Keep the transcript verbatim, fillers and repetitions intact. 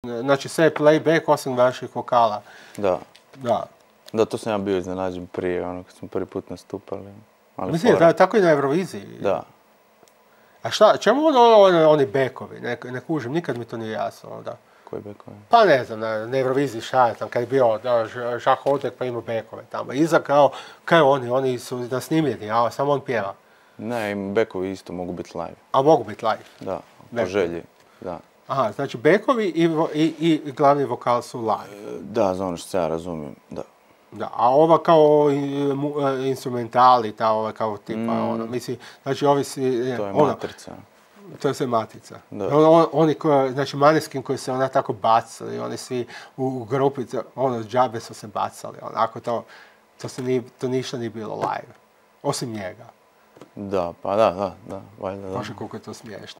Znači sve je playback osim vaših vokala. Da. Da. Da, to sam ja bio iznenađen prije, ono, kad smo prvi put nastupali. Ali Mislim, fora. da, tako i na Euroviziji. Da. A šta, čemu ono, ono, oni bekovi? Ne, ne kužim, nikad mi to nije jasno. Da. Koji bekovi? Pa ne znam, na, na Euroviziji šta je tam, kad je bio da, Žak Otek pa ima bekove tamo. Iza kao, kao oni, oni su nasnimljeni, a samo on pjeva. Ne, im bekovi isto mogu biti live. A mogu biti live? Da, po Bekovi. želji, da. Aha, znači bekovi i, i, i glavni vokal su live. Da, za ono što se ja razumijem, da. Da, a ova kao instrumentali, ta ova kao tipa, mm. ono, mislim, znači ovisi... To je ono, matrica. To je sve matica. Da. On, oni koji, znači Maneskin koji se ona tako bacali, oni svi u, u grupi, ono, džabe su se bacali, onako to, to, se nije, to ništa nije bilo live, osim njega. Da, pa da, da, da, valjda da. Bože, koliko je to smiješno.